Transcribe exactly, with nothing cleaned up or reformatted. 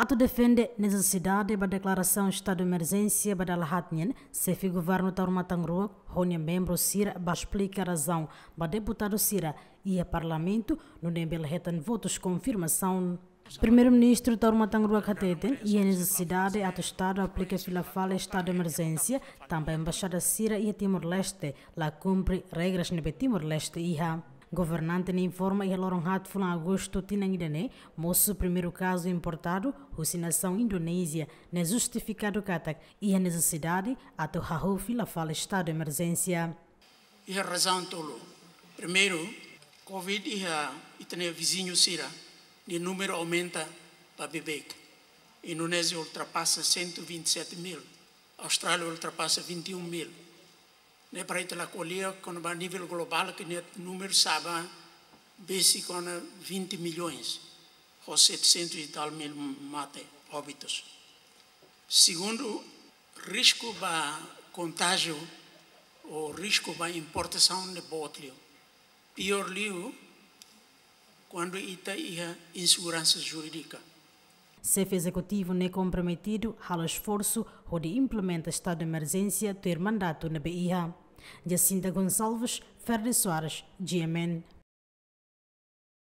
Atu defende nesesidade ba deklarasaun estadu emerjénsia ba dala haat nian, xefe governu Taur Matan Ruak ho nia membru sira ba esplika razaun ba deputadu sira iha parlamentu, nune'e bele hetan votus konfirmasaun. Primeiru-Ministru Taur Matan Ruak hateten iha nesesidade atu estadu aplika fila fali estadu emerjénsia, tanba embaixada sira iha Timor-Leste la kumpre regras ne'ebé Timor-Leste iha. Governante ne'e informa iha loron haat fulan Agostu tinan ida-ne'e, mosu primeiru kazu importadu husi nasaun Indonézia, ne'e justifikadu katak iha nesesidade atu hahú fila fali estadu emerjénsia. Iha razaun tolu. Primeiru, covid iha ita-nia viziñu sira, nia númeru aumenta ba beibeik. Indonézia ultrapasa cento e vinte e sete mil, Austrália ultrapasa vinte e um mil. Ne'e para ita la ko'alia kona-ba nivel globál ke nia númeru sa'e ba besik kona vinte milhões, ho setecentos e tal mil mate, óbitus. Segundu, risku ba kontájiu ou risku ba importasaun ne'e boot liu. Piór liu, kuandu ita iha inseguransa jurídika. Xefe ezekutivu ne'e komprometidu halo esforsu hodi implementa estadu emerjénsia tuir mandatu ne'ebé iha. Jacinta Gonçalves, Ferdi Soares, G M N.